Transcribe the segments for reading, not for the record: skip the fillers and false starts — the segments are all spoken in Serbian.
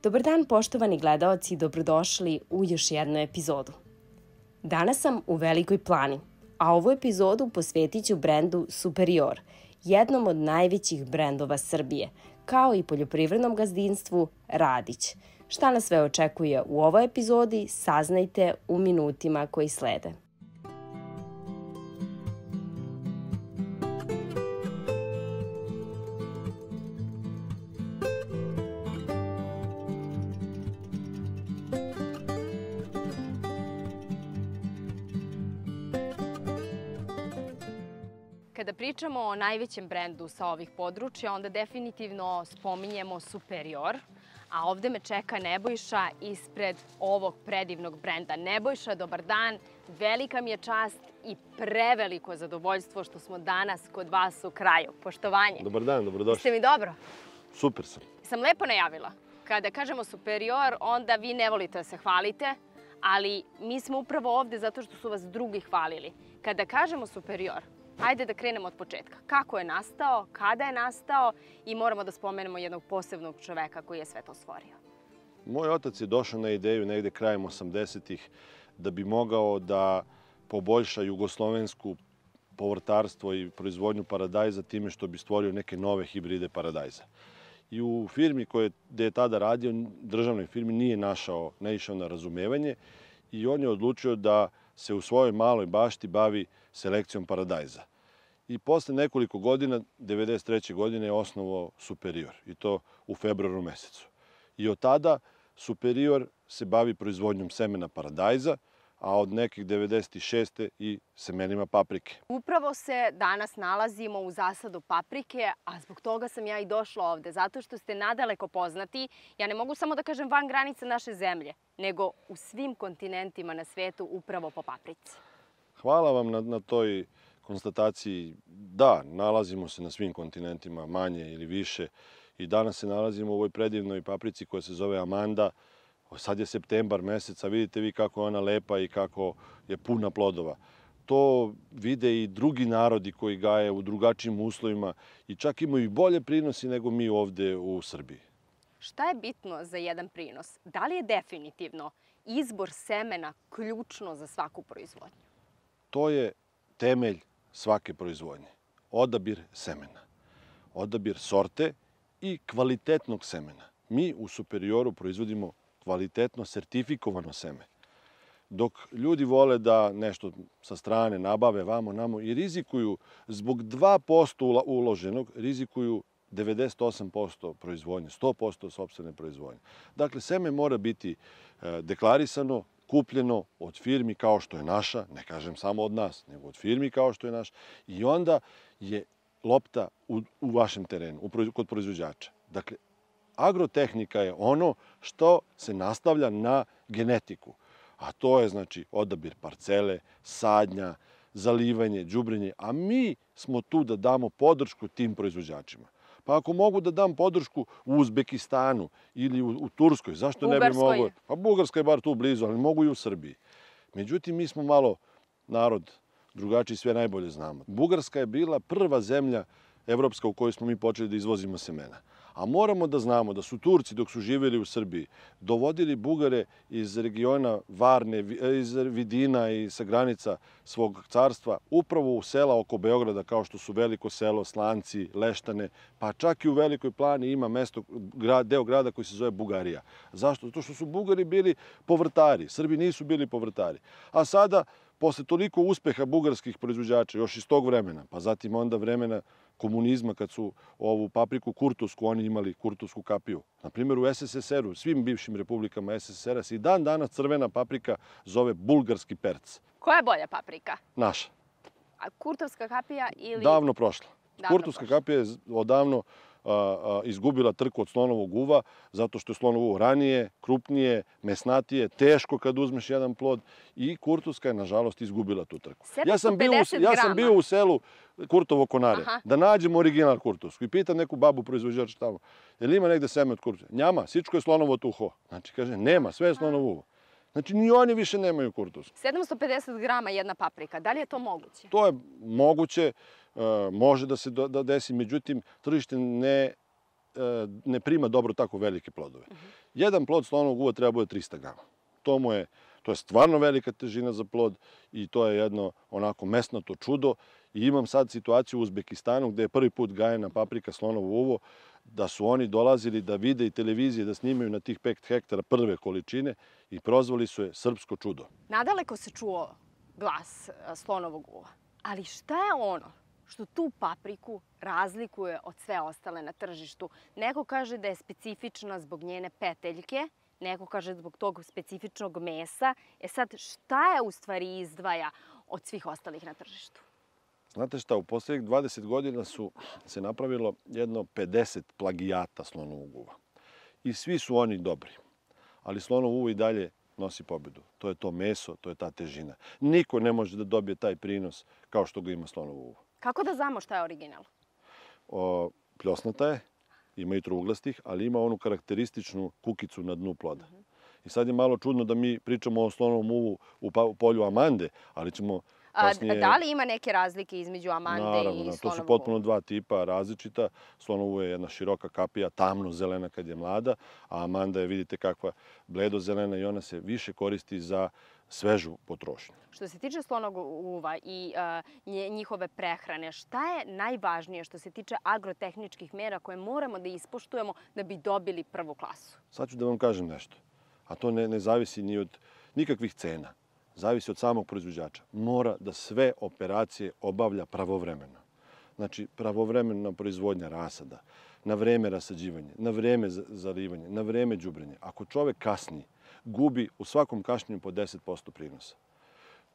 Dobar dan poštovani gledaoci i dobrodošli u još jednu epizodu. Danas sam u Velikoj Plani, a ovu epizodu posvetit ću brendu Superior, jednom od najvećih brendova Srbije, kao i poljoprivrednom gazdinstvu Radić. Šta nas sve očekuje u ovoj epizodi, saznajte u minutima koji slede. Kada pričamo o najvećem brendu sa ovih područja, onda definitivno spominjemo Superior, a ovde me čeka Nebojša ispred ovog predivnog brenda. Nebojša, dobar dan, velika mi je čast i preveliko zadovoljstvo što smo danas kod vas u kraju. Poštovanje. Dobar dan, dobrodošli. Ste mi dobro? Super sam. Sam lepo najavila. Kada kažemo Superior, onda vi ne volite da se hvalite, ali mi smo upravo ovde zato što su vas drugi hvalili. Kada kažemo Superior, hajde da krenemo od početka. Kako je nastao, kada je nastao i moramo da spomenemo jednog posebnog čoveka koji je sve to stvorio. Moj otac je došao na ideju negde krajem 80-ih da bi mogao da poboljša jugoslovensku povrtarstvo i proizvodnju paradajza time što bi stvorio neke nove hibride paradajza. I u firmi gde je tada radio, državnoj firmi, nije naišao na razumevanje i on je odlučio da se u svojoj maloj bašti bavi selekcijom paradajza. I posle nekoliko godina, 1993. godine, je osnovao Superior, i to u februaru mesecu. I od tada Superior se bavi proizvodnjom semena paradajza, a od nekih 96. i semenima paprike. Upravo se danas nalazimo u zasadu paprike, a zbog toga sam ja i došla ovde, zato što ste nadaleko poznati, ja ne mogu samo da kažem van granica naše zemlje, nego u svim kontinentima na svetu upravo po paprici. Hvala vam na toj konstataciji. Da, nalazimo se na svim kontinentima, manje ili više, i danas se nalazimo u ovoj predivnoj paprici koja se zove Amanda. Sad je septembar mesec, a vidite vi kako je ona lepa i kako je puna plodova. To vide i drugi narodi koji gaje u drugačijim uslovima i čak imaju i bolje prinosi nego mi ovde u Srbiji. Šta je bitno za jedan prinos? Da li je definitivno izbor semena ključno za svaku proizvodnju? To je temelj svake proizvodnje. Odabir semena. Odabir sorte i kvalitetnog semena. Mi u Superioru proizvodimo kvalitetno sertifikovano seme. Dok ljudi vole da nešto sa strane nabave vamo namo i rizikuju, zbog 2% uloženog, rizikuju 98% proizvodnje, 100% sopstvene proizvodnje. Dakle, seme mora biti deklarisano, kupljeno od firmi kao što je naša, ne kažem samo od nas, nego od firmi kao što je naša, i onda je lopta u vašem terenu, kod proizvođača. Dakle, agrotehnika je ono što se nastavlja na genetiku, a to je znači odabir parcele, sadnja, zalivanje, đubrenje, a mi smo tu da damo podršku tim proizvođačima. Pa ako mogu da dam podršku u Uzbekistanu ili u Turskoj, zašto ne bi mogu? Pa Bugarska je bar tu blizu, ali mogu i u Srbiji. Međutim, mi smo malo narod drugačiji, sve najbolje znamo. Bugarska je bila prva zemlja evropska u kojoj smo mi počeli da izvozimo semena. A moramo da znamo da su Turci, dok su živjeli u Srbiji, dovodili Bugare iz regiona Varne, iz Vidina i sa granica svog carstva, upravo u sela oko Beograda, kao što su Veliko selo, Slanci, Leštane, pa čak i u Velikoj Plani ima deo grada koji se zove Bugarija. Zašto? Zato što su Bugari bili povrtari, Srbi nisu bili povrtari. A sada, posle toliko uspeha bugarskih proizvođača, još iz tog vremena, pa zatim onda vremena komunizma, kad su ovu papriku kurtusku, oni imali kurtusku kapiju. Na primjer, u SSSR-u, svim bivšim republikama SSSR-a se i dan danas crvena paprika zove bulgarski perc. Koja je bolja paprika? Naša. A kurtovska kapija ili... Davno prošla. Kurtovska kapija je odavno izgubila trku od slonovog uva, zato što je slonovo uvo ranije, krupnije, mesnatije, teško kad uzmeš jedan plod, i kurtovska je, nažalost, izgubila tu trku. Ja sam bio u selu Kurtovo Konare, da nađem original kurtovsku i pitam neku babu proizvođača tamo, je li ima negde seme od kurtovske? Njama, sičko je slonovo tuho. Znači, kaže, nema, sve je slonovo uvo. Znači, ni oni više nemaju kurtovsku. 750 grama jedna paprika, da li je to moguće? To je moguće, može da se desi, međutim, tržište ne ne prima dobro tako velike plodove. Jedan plod slonovog uva treba bude 300 grama. To je stvarno velika težina za plod i to je jedno onako mesnato čudo. I imam sad situaciju u Uzbekistanu gde je prvi put gajena paprika slonovo uvo, da su oni dolazili da vide i televizije, da snimaju na tih 5 hektara prve količine i prozvali su je srpsko čudo. Nadaleko se čuo glas slonovog uva, ali šta je ono što tu papriku razlikuje od sve ostale na tržištu? Neko kaže da je specifična zbog njene peteljke, neko kaže zbog tog specifičnog mesa. Sad, šta je u stvari izdvaja od svih ostalih na tržištu? Znate šta, u poslednjih 20 godina se napravilo jedno 50 plagijata slonovog uva. I svi su oni dobri. Ali slonovo uvo i dalje nosi pobedu. To je to meso, to je ta težina. Niko ne može da dobije taj prinos kao što ga ima slonovo uvo. Kako da znamo šta je original? Pljosnata je, ima i trouglastih, ali ima onu karakterističnu kukicu na dnu ploda. I sad je malo čudno da mi pričamo o slonovom uvu u polju Amande, ali ćemo kasnije... Da li ima neke razlike između Amande i slonovog uva? Naravno, to su potpuno dva tipa različita. Slonovo uvo je jedna široka kapija, tamno zelena kad je mlada, a Amanda je, vidite, kakva bledo zelena i ona se više koristi za svežu potrošnju. Što se tiče slonovog uva i njihove prehrane, šta je najvažnije što se tiče agrotehničkih mera koje moramo da ispoštujemo da bi dobili prvu klasu? Sad ću da vam kažem nešto, a to ne zavisi ni od nikakvih cena. Zavisi od samog proizvođača. Mora da sve operacije obavlja pravovremeno. Znači, pravovremena proizvodnja rasada, na vreme rasađivanje, na vreme zalivanje, na vreme đubrenje. Ako čovek kasni, gubi u svakom kašnjenju po 10% prinosa.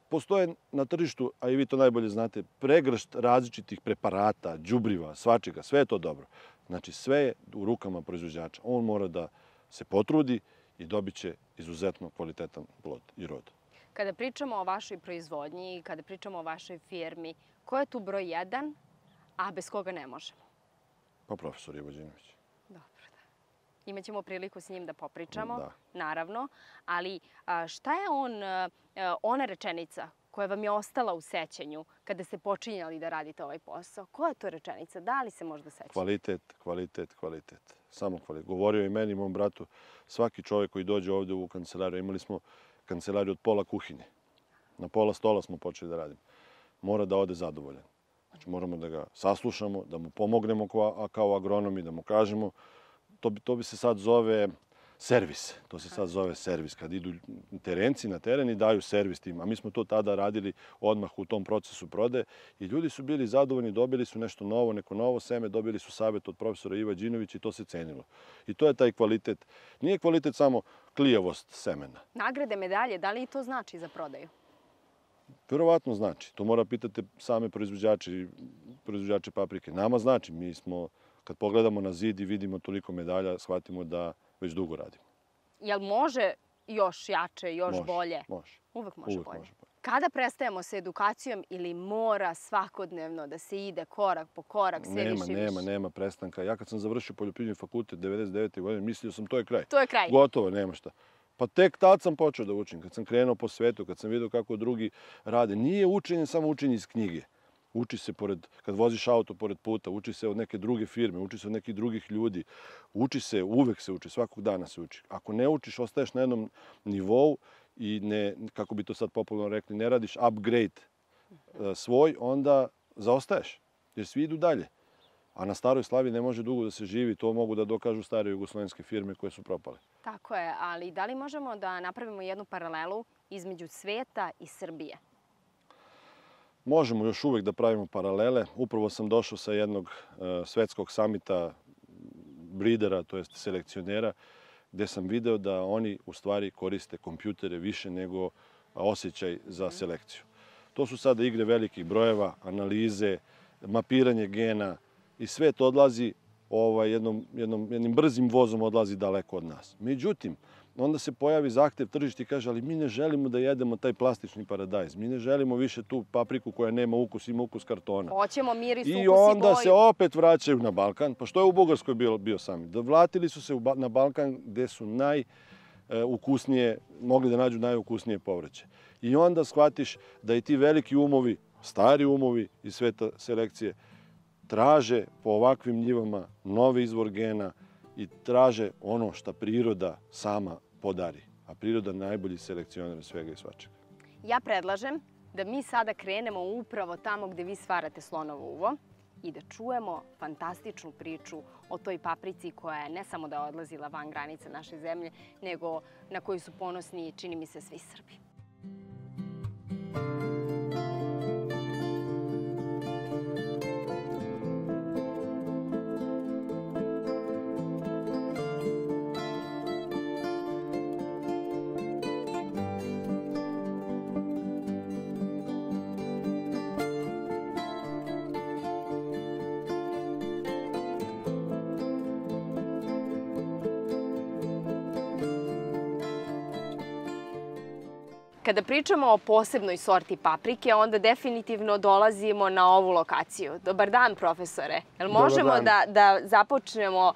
Postoje na tržištu, a i vi to najbolje znate, pregršt različitih preparata, đubriva, svačega, sve je to dobro. Znači, sve je u rukama proizvođača. On mora da se potrudi i dobit će izuzetno kvalitetan plod i rod. Kada pričamo o vašoj proizvodnji i kada pričamo o vašoj firmi, ko je tu broj 1, a bez koga ne možemo? Pa profesor Ivo Đinović. Dobro, da. Imaćemo priliku s njim da popričamo, Da. naravno. Ali šta je ona rečenica koja vam je ostala u sećanju kada ste počinjali da radite ovaj posao? Koja je to rečenica? Da li se možda sećate? Kvalitet, kvalitet, kvalitet. Samo kvalitet. Govorio je i meni i mom bratu, svaki čovjek koji dođe ovde u kancelariju, imali smo kancelariju od pola kuhinje. Na pola stola smo počeli da radimo. Mora da ode zadovoljan. Znači, moramo da ga saslušamo, da mu pomognemo kao agronomi, da mu kažemo. To bi se sad zove servis. To se sad zove servis. Kad idu terenci na teren i daju servis tim. A mi smo to tada radili odmah u tom procesu prodaje. I ljudi su bili zadovoljni, dobili su nešto novo, neko novo seme, dobili su savjet od profesora Iva Đinovića i to se cenilo. I to je taj kvalitet. Nije kvalitet samo klijavost semena. Nagrade, medalje, da li i to znači za prodaju? Verovatno znači. To mora pitati same proizvođače paprike. Nama znači. Mi smo, kad pogledamo na zid i vidimo toliko medalja, shvatimo da već dugo radimo. Jel može još jače, još bolje? Može. Uvek može bolje. Kada prestajemo sa edukacijom ili mora svakodnevno da se ide korak po korak, sve više i više? Nema prestanka. Ja kad sam završio poljoprivredni fakultet 99. godine, mislio sam to je kraj. To je kraj. Gotovo, nema šta. Pa tek tad sam počeo da učim, kad sam krenuo po svetu, kad sam vidio kako drugi rade. Nije učenje samo učenje iz knjige. Uči se kad voziš auto pored puta, uči se od neke druge firme, uči se od nekih drugih ljudi. Uči se, uvek se uči, svakog dana se uči. Ako ne učiš, ostaješ na jednom nivou i ne, kako bi to sad popularno rekli, ne radiš upgrade svoj, onda zaostaješ, jer svi idu dalje. A na Staroj Slavi ne može dugo da se živi, to mogu da dokažu stare jugoslovenske firme koje su propale. Tako je, ali da li možemo da napravimo jednu paralelu između sveta i Srbije? Možemo još uvek da pravimo paralele. Upravo sam došao sa jednog svetskog samita bridera, to jest selekcionera, gde sam video da oni u stvari koriste kompjutere više nego osjećaj za selekciju. To su sada igre velikih brojeva, analize, mapiranje gena i sve to odlazi jednim brzim vozom odlazi daleko od nas. Međutim, onda se pojavi zahtev tržišta i kaže, ali mi ne želimo da jedemo taj plastični paradajz. Mi ne želimo više tu papriku koja nema ukus, ima ukus kartona. Hoćemo miris, ukus i I boju. onda se opet vraćaju na Balkan. Pa što je u Bugarskoj bio sami? Vratili su se na Balkan gde su najukusnije, mogli da nađu najukusnije povrće. I onda shvatiš da i ti veliki umovi, stari umovi iz sveta selekcije, traže po ovakvim njivama novi izvor gena i traže ono što priroda sama podari. A priroda je najbolji selekcioner svega i svačega. Ja predlažem da mi sada krenemo upravo tamo gde vi stvarate slonovo uvo i da čujemo fantastičnu priču o toj paprici koja je ne samo da je odlazila van granice naše zemlje, nego na koju su ponosni, čini mi se, svi Srbi. Kada pričamo o posebnoj sorti paprike, onda definitivno dolazimo na ovu lokaciju. Dobar dan, profesore. Jel možemo da započnemo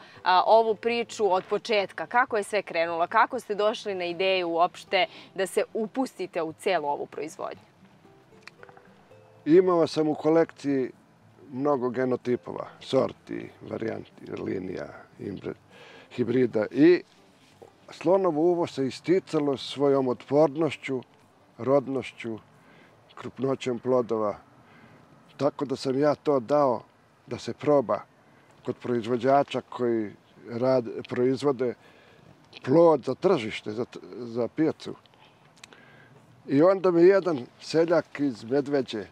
ovu priču od početka? Kako je sve krenulo? Kako ste došli na ideju uopšte da se upustite u celu ovu proizvodnju? Imao sam u kolekciji mnogo genotipova, sorti, varijanti, linija, hibrida i slonovo uvo se isticalo svojom otpornošću, rodnošću, krupnoćem plodova. Tako da sam ja to dao da se proba kod proizvođača koji proizvode plod za tržište, za pijacu. I onda mi jedan seljak iz Medveđe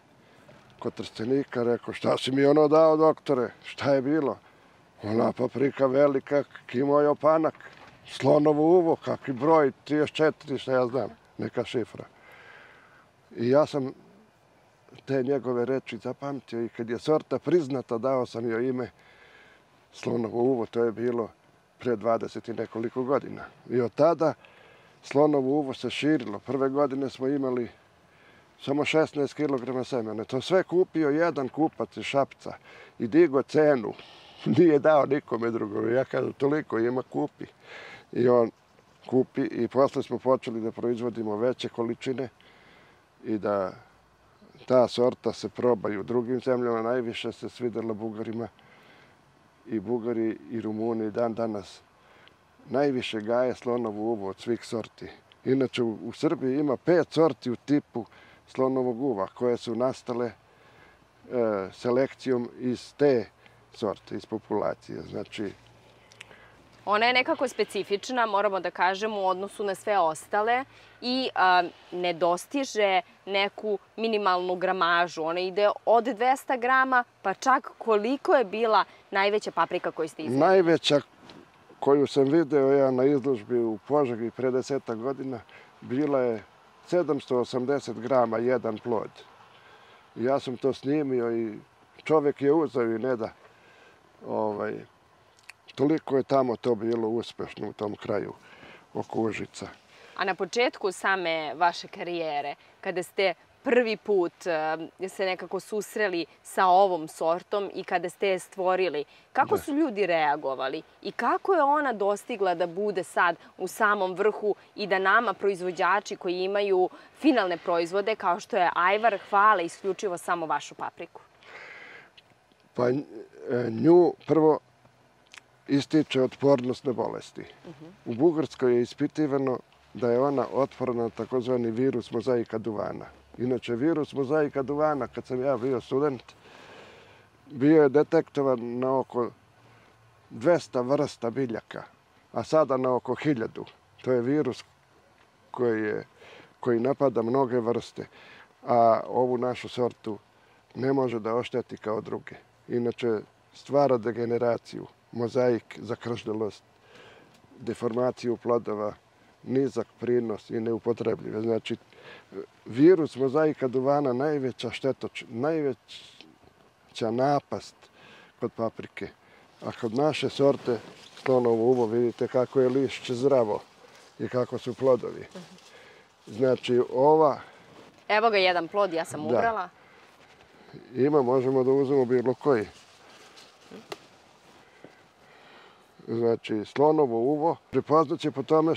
kod Trstenika rekao, šta si mi ono dao, doktore, šta je bilo? Ona paprika velika, kimo je opanak, slonovo uvo, kakvi broj, 34, šta ja znam, neka šifra. I ja sam te njegove reči zapamtio i kad je sorta priznata, dao sam joj ime slonovo uvo, to je bilo pre 20 i nekoliko godina. I od tada slonovo uvo se širilo. Prve godine smo imali samo 16 kg semena. To sve kupio jedan kupac iz Šapca i digo cenu. Nije dao nikome drugome. Ja kažem, toliko ima, kupi. I on kupi i posle smo počeli da proizvodimo veće količine i da ta sorta se proba i u drugim zemljama. Najviše se svidela Bugarima i Bugari i Rumuni dan danas najviše gaje slonovo uvo od svih sorti. Inače, u Srbiji ima 5 sorti u tipu slonovog uva koje su nastale selekcijom iz te sorte, iz populacije. Znači, ona je nekako specifična, moramo da kažemo, u odnosu na sve ostale i ne dostiže neku minimalnu gramažu. Ona ide od 200 grama, pa čak koliko je bila najveća paprika koju ste izvedeli? Najveća koju sam video ja na izložbi u Požegi pre 10 godina, bila je 780 grama jedan plod. Ja sam to snimio i čovjek je uzeo i ne da. Toliko je tamo to bilo uspešno u tom kraju oko Užica. A na početku same vaše karijere, kada ste prvi put se nekako susreli sa ovom sortom i kada ste je stvorili, kako su ljudi reagovali i kako je ona dostigla da bude sad u samom vrhu i da nama proizvođači koji imaju finalne proizvode kao što je ajvar hvale isključivo samo vašu papriku? Pa nju prvo ističe otpornost na bolesti. U Bugarskoj je ispitivano da je ona otporna na takozvani virus mozaika duvana. Inače, virus mozaika duvana, kad sam ja bio student, bio je detektovan na oko 200 vrsta biljaka, a sada na oko 1000. To je virus koji napada mnoge vrste, a ovu našu sortu ne može da ošteti kao druge. Inače, stvara degeneraciju, mozaik, zakrždelost, deformaciju plodova, nizak prinos i neupotrebljive. Znači, virus mozaika duvana najveća napast kod paprike. A kod naše sorte slonovo uvo vidite kako je lišće zdravo i kako su plodovi. Znači, ova... Evo ga jedan plod, ja sam ubrala. Ima, možemo da uzmemo bilo koji. Znači, slonovo uvo prepoznaće po tome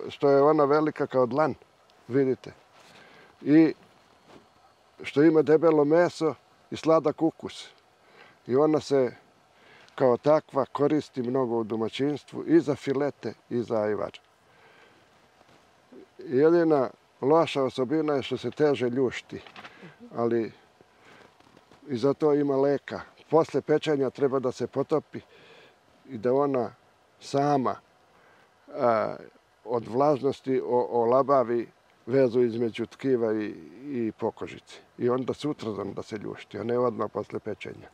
što je ona velika kao dlan, vidite. I što ima debelo meso i sladak ukus. i ona se kao takva koristi mnogo u domaćinstvu i za filete i za ajvar. Jedina loša osobina je što se teže ljušti, ali i za to ima leka. Posle pečenja treba da se potopi i da ona sama od vlažnosti olabavi vezu između tkiva i pokožice. I onda sutradan da se ljušti, a ne odmah posle pečenja.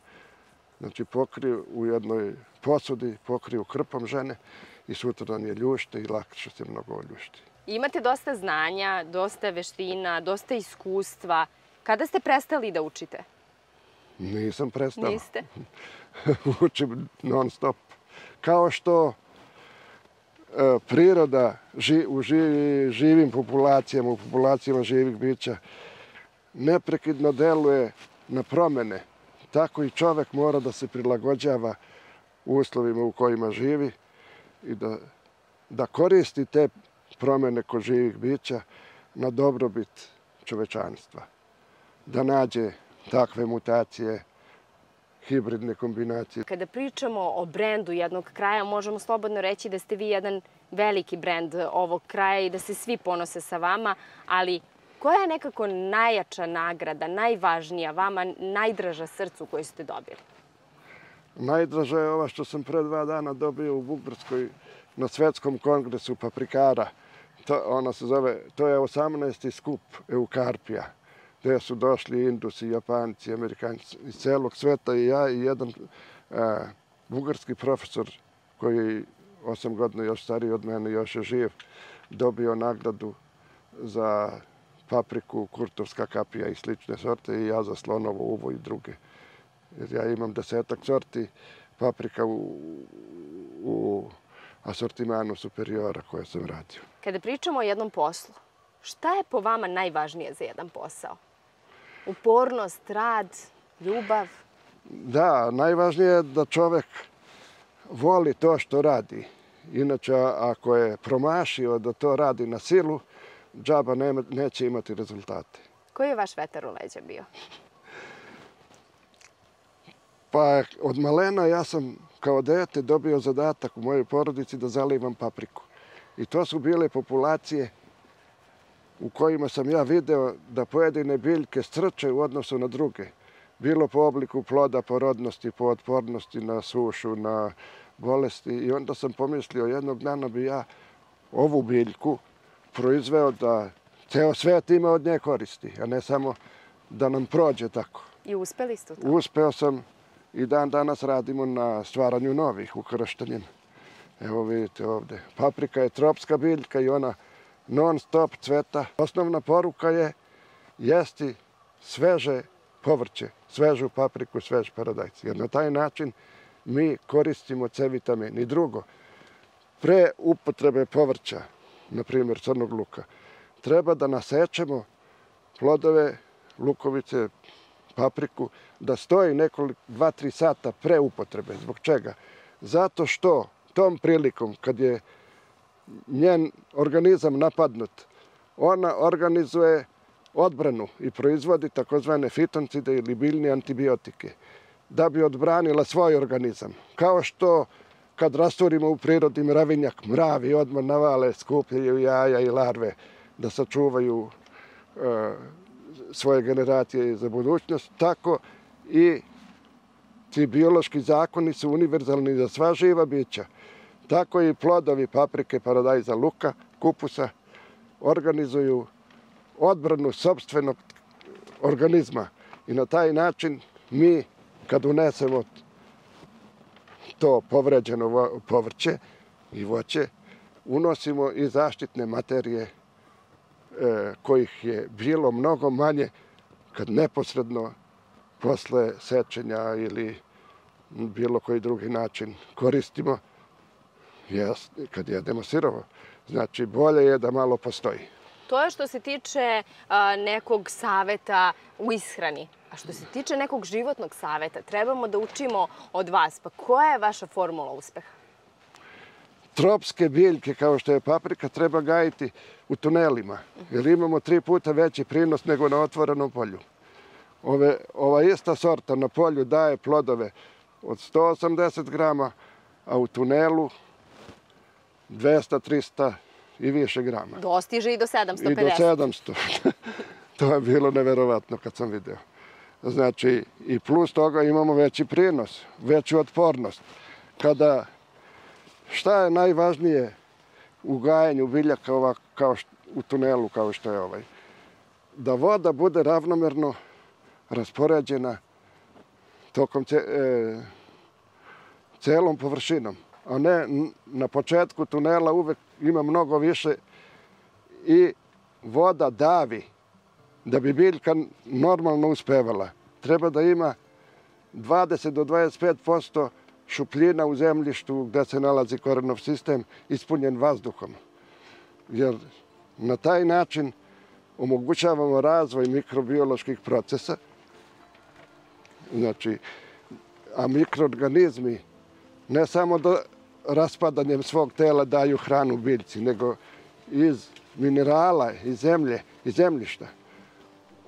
Znači pokriju u jednoj posudi, pokriju krpom žene i sutradan je ljušte i lakše se mnogo ljušti. Imate dosta znanja, dosta veština, dosta iskustva. Kada ste prestali da učite? Nisam prestao. Niste? Učim non stop. Kao što priroda u živim populacijama, u populacijama živih bića, neprekidno deluje na promene. Tako i čovek mora da se prilagođava uslovima u kojima živi i da koristi te promene kod živih bića na dobrobit čovečanstva. Da nađe takve mutacije, hibridne kombinacije. Kada pričamo o brendu jednog kraja, možemo slobodno reći da ste vi jedan veliki brend ovog kraja i da se svi ponose sa vama, ali koja je nekako najjača nagrada, najvažnija vama, najdraža srcu koju ste dobili? Najdraža je ova što sam pre 2 dana dobio u Bugarskoj na Svetskom kongresu paprikara. Ona se zove, to je 18. skup Eukarpija, gde su došli Indusi, Japanci, Amerikanci iz celog sveta i ja i jedan bugarski profesor koji je 8 godina još stariji od mene, još je živ, dobio nagradu za papriku, kurtovska kapija i slične sorte i ja za slonovo uvo i druge. Jer ja imam 10-ak sorti paprika u asortimanu Superiora koje sam radio. Kada pričamo o jednom poslu, šta je po vama najvažnije za jedan posao? Upornost, rad, ljubav? Da, najvažnije je da čovek voli to što radi. Inače, ako je promašio da to radi na silu, džaba neće imati rezultate. Koji je vaš vetar u leđa bio? Pa od malena ja sam kao dete dobio zadatak u mojoj porodici da zalivam papriku. I to su bile populacije u kojima sam ja video da pojedine biljke strče u odnosu na druge. Bilo po obliku ploda, po rodnosti, po otpornosti na sušu, na bolesti. I onda sam pomislio, jednog dana bi ja ovu biljku proizveo da ceo svet ima od nje koristi, a ne samo da nam prođe tako. I uspeli ste u to? Uspeo sam i dan danas radimo na stvaranju novih ukrštanjem. Evo vidite ovde. Paprika je tropska biljka i ona non stop cveta. Osnovna poruka je jesti sveže povrće, svežu papriku, svež paradajz. Jer na taj način mi koristimo C vitamin. I drugo, pre upotrebe povrća, na primjer crnog luka, treba da nasečemo plodove, lukovice, papriku, da stoji 2-3 sata pre upotrebe. Zbog čega? Zato što tom prilikom, kad je njen organizam napadnut, ona organizuje odbranu i proizvodi takozvane fitoncide ili biljne antibiotike da bi odbranila svoj organizam. Kao što kad rasturimo u prirodi mravinjak, mravi odmah navale, skupljaju jaja i larve da sačuvaju svoje generacije za budućnost, tako i ti biološki zakoni su univerzalni za sva živa bića. Tako i plodovi paprike, paradajza, luka, kupusa organizuju odbranu sopstvenog organizma. I na taj način mi, kad unesemo to povređeno povrće i voće, unosimo i zaštitne materije kojih je bilo mnogo manje kad neposredno posle sečenja ili bilo koji drugi način koristimo kad jedemo sirovo. Znači, bolje je da malo postoji. To je što se tiče nekog saveta u ishrani. A što se tiče nekog životnog saveta, trebamo da učimo od vas. Pa koja je vaša formula uspeha? Tropske biljke, kao što je paprika, treba gajiti u tunelima, jer imamo 3 puta veći prinos nego na otvorenom polju. Ova ista sorta na polju daje plodove od 180 grama, a u tunelu 200, 300 i više grama. Dostiže i do 750. I do 700. To je bilo neverovatno kad sam video. Znači, i plus toga imamo veći prinos, veću otpornost. Šta je najvažnije u gajenju biljaka u tunelu kao što je ovaj? Da voda bude ravnomerno raspoređena tokom celom površinom, a ne na početku tunela uvek ima mnogo više i voda davi. Da bi biljka normalno uspevala, treba da ima 20 do 25% šupljina u zemljištu gde se nalazi korenov sistem ispunjen vazduhom. Jer na taj način omogućavamo razvoj mikrobioloških procesa, znači, a mikroorganizmi ne samo da raspadanjem svog tela daju hranu biljci, nego iz minerala, iz zemlje, iz zemljišta.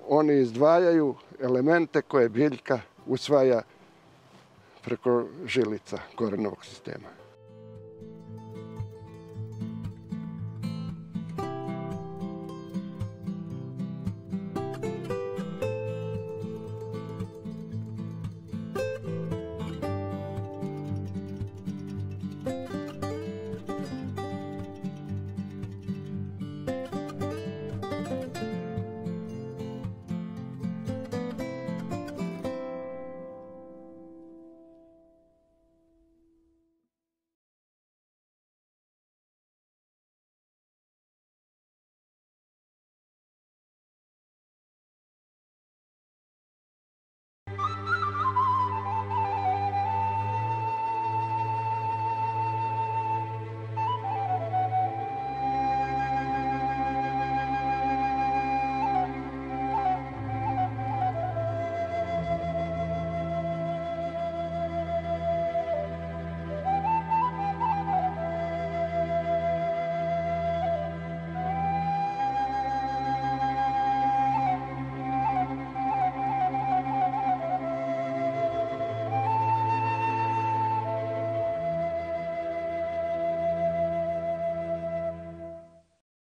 Oni izdvajaju elemente koje biljka usvaja preko žilica korenovog sistema.